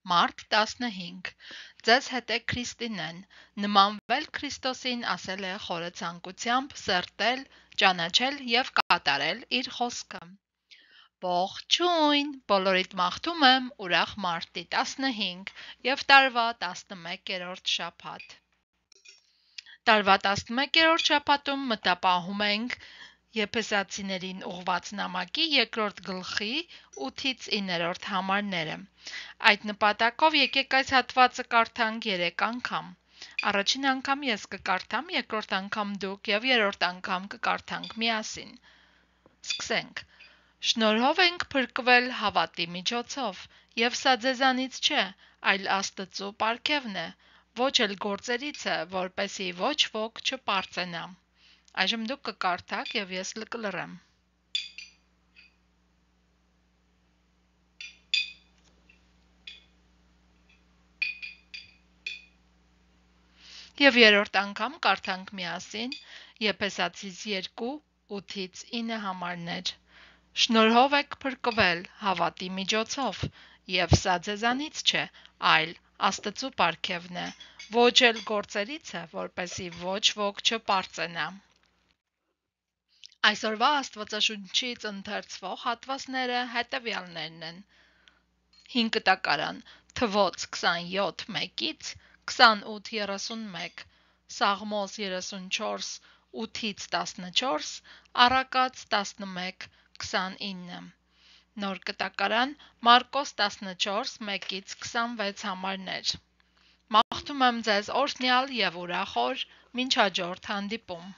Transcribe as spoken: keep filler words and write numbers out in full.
Մարտ տասնհինգ. Ձեզ հետ է Քրիստինեն, նմանվել Քրիստոսին ասել է խորը ցանկությամբ սերտել, ճանաչել և կատարել իր խոսքը։ Ողջույն, բոլորիդ մաղթում եմ ուրախ մարտի տասնհինգ և տարվա տասնմեկերորդ շաբաթ։ Տարվա տասնմեկերորդ շաբաթում մտապահում ենք Եփեսացիներին ուղղված նամակի երկրորդ գլխի ութից իններորդ համարները։ Այդ նպատակով եկեք այս հատվածը կարդանք երեք անգամ։ Առաջին անգամ ես կկարդամ, երկրորդ անգամ դուք և երրորդ անգամ կկարդանք միասին։ Սկսենք։ Շնորհով ենք փրկվել հավատի միջոցով, և սա ձեզանից չէ, այլ Աստծու պարգևն է, ոչ էլ գործերից է, որպեսզի ոչ ոք չպարծենա։ Այժմ դուք կկարդաք և ես կլռեմ։ Եվ երրորդ անգամ կարդանք միասին Եփեսացիս երկու ութից ինը համարներ։ Շնորհով եք փրկվել հավատի միջոցով, և սա ձեզանից չէ, այլ Աստծու պարգևն է, ոչ էլ գործերից է, որպեսզի ոչ ոք չպարծենա։ Այսօրվա Աստվածաշունչից ընթերցվող հատվածները հետևյալներն են. հինգ կտակարան, Թվոց քսանյոթ մեկից քսանութ երեսունմեկ, Սաղմոս երեսունչորս ութից տասնչորս, Առակաց տասնմեկ քսանինը, Նոր կտակարան, Մարկոս տասնչորս մեկից քսանվեց համարներ։ Մաղթում եմ ձեզ օրհնյալ և ուրախ օր, մինչ հաջորդ հանդիպում։